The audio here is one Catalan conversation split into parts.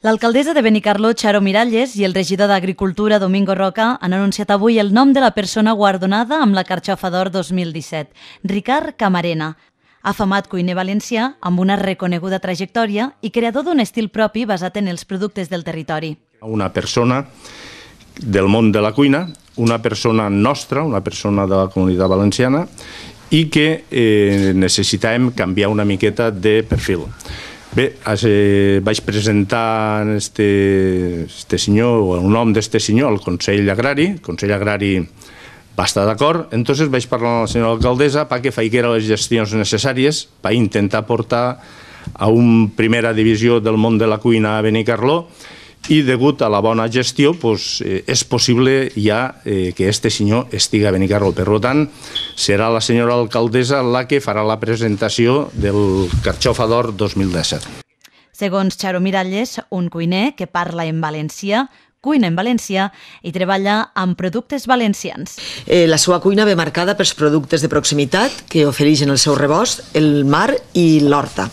L'alcaldessa de Benicarló, Charo Miralles, i el regidor d'Agricultura, Domingo Roca, han anunciat avui el nom de la persona guardonada amb la Carxofa d'Or 2017, Ricard Camarena, afamat cuiner valencià amb una reconeguda trajectòria i creador d'un estil propi basat en els productes del territori. Una persona del món de la cuina, una persona nostra, una persona de la Comunitat Valenciana, i que necessitàvem canviar una miqueta de perfil. Bé, vaig presentar este senyor, o el nom d'este senyor, al Consell Agrari. El Consell Agrari va estar d'acord, entonces vaig parlar amb la senyora alcaldessa perquè faiguera les gestions necessàries per intentar portar a una primera divisió del món de la cuina a Benicarló, i degut a la bona gestió és possible ja que este senyor estigui a Benicarló. Per tant, serà la senyora alcaldessa la que farà la presentació del Carxofa d'Or 2017. Segons Charo Miralles, un cuiner que parla en valencià, cuina en valencià i treballa amb productes valencians. La seva cuina ve marcada pels productes de proximitat que ofereixen el seu rebost, el mar i l'horta.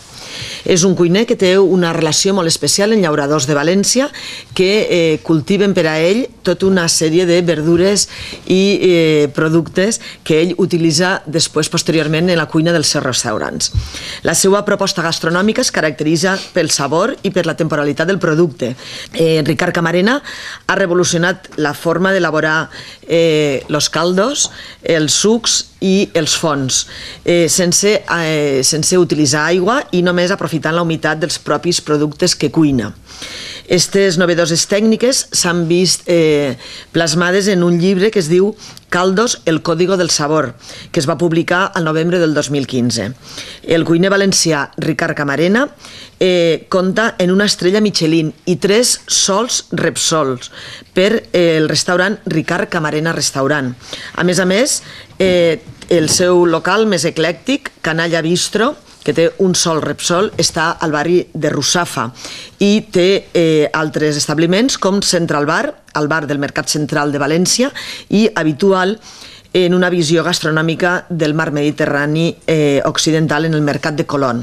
És un cuiner que té una relació molt especial amb llauradors de València que cultiven per a ell tota una sèrie de verdures i productes que ell utilitza després, posteriorment, en la cuina dels seus restaurants. La seva proposta gastronòmica es caracteritza pel sabor i per la temporalitat del producte. Ricard Camarena ha revolucionat la forma d'elaborar els caldos, els sucs i els fons, sense utilitzar aigua i només aprofitant la humitat dels propis productes que cuina. Aquestes novedoses tècniques s'han vist plasmades en un llibre que es diu Caldos, el código del sabor, que es va publicar al novembre del 2015. El cuiner valencià Ricard Camarena compta en una estrella Michelin i 3 sols Repsols per el restaurant Ricard Camarena Restaurant. A més, el seu local més eclèctic, Canalla Bistro, que té un sol Repsol, està al barri de Russafa i té altres establiments com Central Bar, el bar del Mercat Central de València, i Habitual, en una visió gastronòmica del mar Mediterrani occidental en el Mercat de Colón.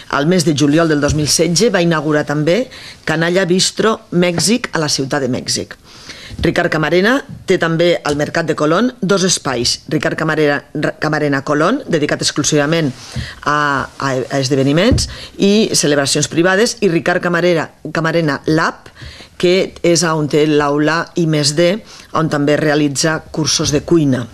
Al mes de juliol del 2016 va inaugurar també Canalla Bistro Mèxic a la ciutat de Mèxic. Ricard Camarena té també al Mercat de Colón 2 espais, Ricard Camarena Colón, dedicat exclusivament a esdeveniments i celebracions privades, i Ricard Camarena Lab, que és on té l'aula I+D, on també realitza cursos de cuina.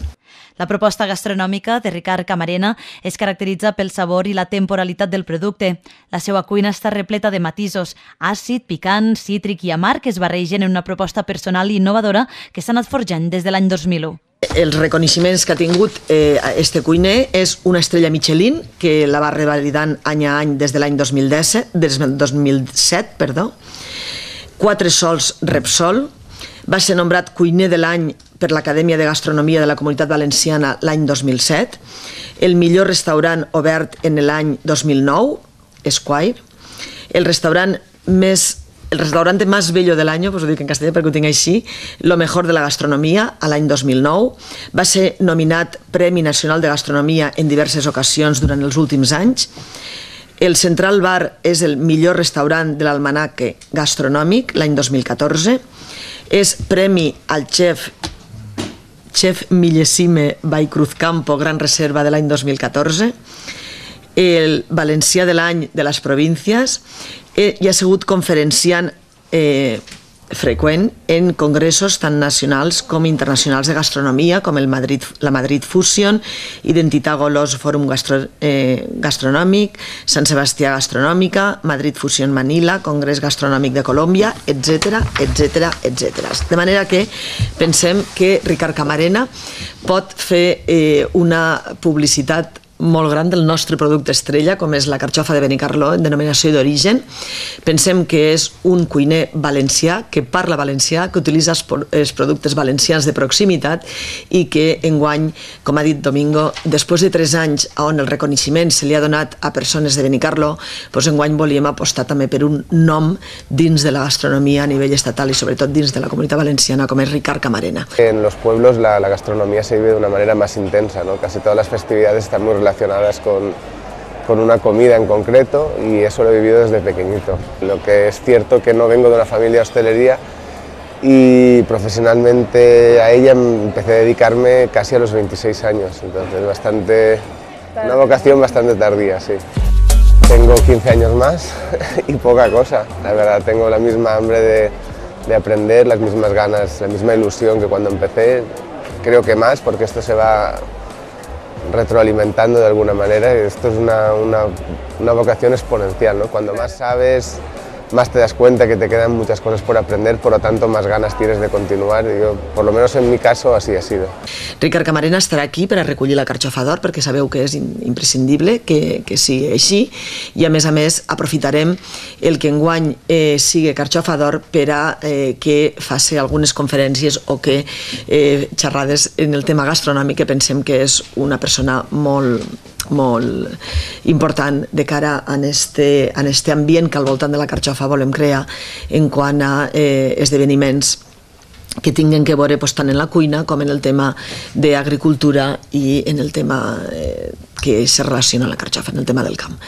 La proposta gastronòmica de Ricard Camarena es caracteritza pel sabor i la temporalitat del producte. La seva cuina està repleta de matisos, àcid, picant, cítric i amarg, que es barregen en una proposta personal i innovadora que s'ha anat forjant des de l'any 2001. Els reconeixements que ha tingut este cuiner és una estrella Michelin, que la va revalidant any a any des de l'any 2007, 4 sols Repsol, va ser nombrat cuiner de l'any per l'Acadèmia de Gastronomia de la Comunitat Valenciana l'any 2007, el millor restaurant obert en l'any 2009, Esquire, el restaurante más bello del año, pues ho dic en castellà perquè ho tinc així, lo mejor de la gastronomia, a l'any 2009, va ser nominat Premi Nacional de Gastronomia en diverses ocasions durant els últims anys. El Central Bar és el millor restaurant de l'Almanaque Gastronòmic l'any 2014, és premi al Chef Millesime by Cruzcampo Gran Reserva de l'any 2014, el Valencià de l'any de les províncies, i ha sigut conferenciant freqüent en congressos tant nacionals com internacionals de gastronomia, com la Madrid Fusion, Identitat Golos Fòrum Gastronòmic, Sant Sebastià Gastronòmica, Madrid Fusion Manila, Congrés Gastronòmic de Colòmbia, etc. De manera que pensem que Ricard Camarena pot fer una publicitat molt gran del nostre producte estrella, com és la carxofa de Benicarló, en denominació d'origen. Pensem que és un cuiner valencià, que parla valencià, que utilitza els productes valencians de proximitat i que enguany, com ha dit Domingo, després de 3 anys on el reconeixement se li ha donat a persones de Benicarló, enguany volíem apostar també per un nom dins de la gastronomia a nivell estatal i sobretot dins de la Comunitat Valenciana, com és Ricard Camarena. En los pueblos la gastronomía se vive de una manera más intensa, ¿no? Casi todas las festividades están muy relacionadas con una comida en concreto y eso lo he vivido desde pequeñito. Lo que es cierto que no vengo de una familia de hostelería y profesionalmente a ella empecé a dedicarme casi a los 26 años, entonces una vocación bastante tardía, sí. Tengo 15 años más y poca cosa, la verdad tengo la misma hambre de aprender, las mismas ganas, la misma ilusión que cuando empecé, creo que más porque esto se va retroalimentando de alguna manera y esto es una vocación exponencial, ¿no? Cuando más sabes, más te das cuenta que te quedan muchas cosas por aprender, por lo tanto más ganas tienes de continuar i jo, por lo menos en mi caso, así ha sido. Ricard Camarena estarà aquí per a recollir la carxofa d'or perquè sabeu que és imprescindible que sigui així i a més aprofitarem el que enguany sigui carxofa d'or per a que faci algunes conferències o que xerrades en el tema gastronòmic que pensem que és una persona molt important de cara a este ambient que al voltant de la carxofa volem crear en quant a esdeveniments que tinguen que veure tant en la cuina com en el tema d'agricultura i en el tema que se relaciona amb la carxofa, en el tema del camp.